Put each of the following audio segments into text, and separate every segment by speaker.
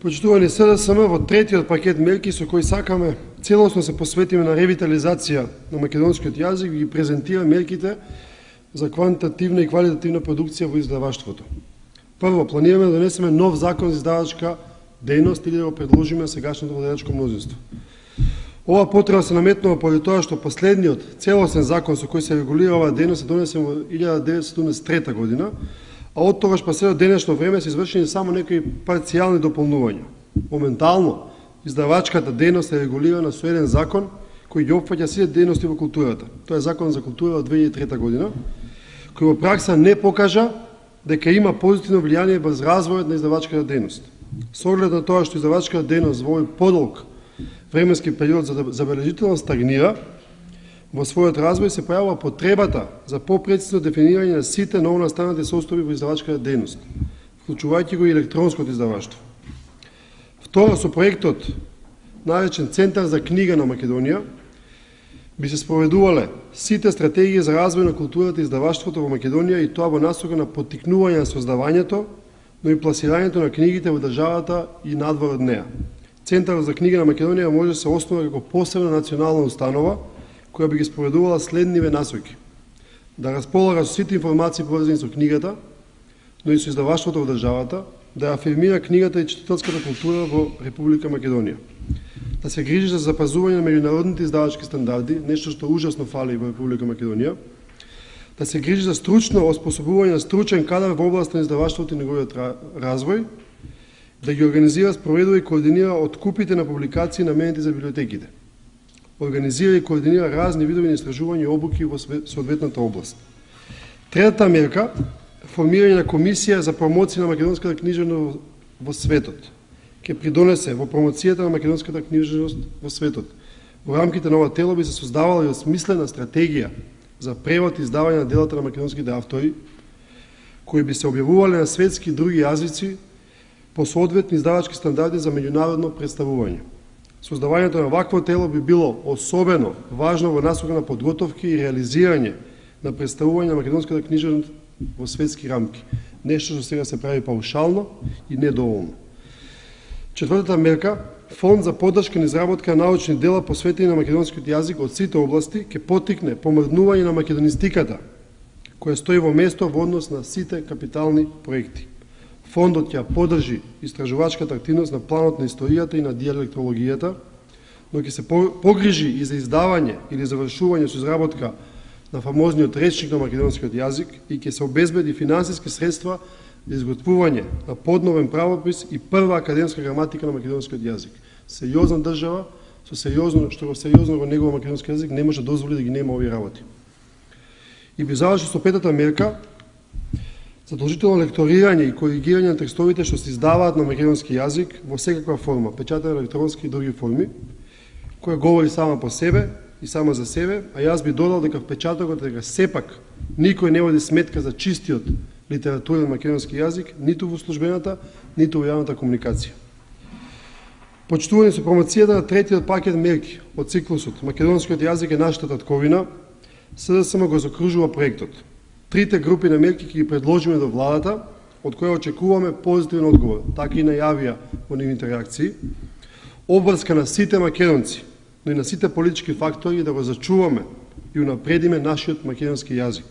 Speaker 1: Почитувани СДСМ, во третиот пакет мерки со кои сакаме целосно се посветиме на ревитализација на македонскиот јазик, ги презентира мерките за квантитативна и квалитативна продукција во издаваштвото. Прво, планираме да донесеме нов закон за издавачка дејност или да го предложиме сегашното владеачко мнозинство. Ова потреба се наметнува поради тоа што последниот целосен закон со кој се регулира оваа дејност се донесен во 1973 година, а од тогаш па се до денешно време се извршени само некои парцијални дополнувања. Моментално, издавачката дејност е регулирана со еден закон кој ги опфаќа сите дејности во културата. Тоа е Закон за култура од 2003 година, кој во пракса не покажа дека има позитивно влијание врз развојот на издавачката дејност. Со оглед на тоа што издавачката дејност во овој подолг временски период забележително стагнира, во својот развој се појавува потребата за попрецизно дефинирање на сите новонастанати состојби во издавачката дејност, вклучувајќи го и електронското издаваштво. Второ, со проектот наречен Центар за книга на Македонија, би се спроведувале сите стратегии за развој на културата и издаваштвото во Македонија, и тоа во насока на поттикнување на создавањето, но и пласирањето на книгите во државата и надвор од неа. Центарот за книга на Македонија може да се основа како посебна национална установа, која би ги спроведувала следниве насоки: да располага со сите информации поврзани со книгата, но и со издаваштвото во државата, да афирмира книгата и читателската култура во Република Македонија, да се грижи за запазување на меѓународните издавачки стандарди, нешто што ужасно фали во Република Македонија, да се грижи за стручно оспособување на стручен кадар во област на издаваштвото и неговиот развој, да ги организира, спроведува и координира откупите на публикации наменети за библиотеките, организира и координира разни видови на истражување и обуки во соодветната област. Третата мерка – формирање на комисија за промоција на македонската книжевност во светот. Ке придонесе во промоцијата на македонската книжевност во светот. Во рамките на ова тело би се создавала и осмислена стратегија за превод и издавање на делата на македонските автори, кои би се објавувале на светски и други јазици по соодветни издавачки стандарди за меѓународно представување. Создавањето на вакво тело би било особено важно во насока на подготовки и реализирање на представување на македонската книжевност во светски рамки. Нешто што сега се прави паушално и недоволно. Четвртата мерка – фонд за поддршка на изработка на научни дела посветени на македонскиот јазик од сите области, ќе поттикне помрднување на македонистиката, која стои во место во однос на сите капитални проекти. Фондот ќе поддржи истражувачката активност на планот на историјата и на диалектологијата, но ќе се погрижи и за издавање или завршување со изработка на фамозниот речник на македонскиот јазик и ќе се обезбеди финансиски средства за изготвување на подновен правопис и прва академска граматика на македонскиот јазик. Сериозна држава, со сериозно, што го сериозно во негова македонски јазик не може да дозволи да ги нема овие работи. И би заврши со петата мерка – задолжително лекторирање и коригирање на текстовите што се издаваат на македонски јазик во секаква форма, печатен, електронски и други форми, која говори сама по себе и сама за себе, а јас би додал дека впечатокот дека сепак никој не води сметка за чистиот литературен македонски јазик, ниту во службената, ниту во јавната комуникација. Почитувани со промоцијата на третиот пакет мерки од циклусот Македонскиот јазик е нашата татковина, СДСМ го закружува проектот. Трите групи на мерки ќе ги предложиме до владата, од која очекуваме позитивен одговор, така и најавија во нивните реакции, обврска на сите македонци, но и на сите политички фактори да го зачуваме и унапредиме нашиот македонски јазик.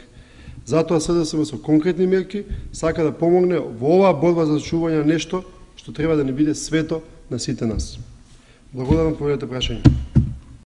Speaker 1: Затоа СДСМ со конкретни мерки сака да помогне во оваа борба за зачување на нешто што треба да не биде свето на сите нас. Благодарам по овие прашања.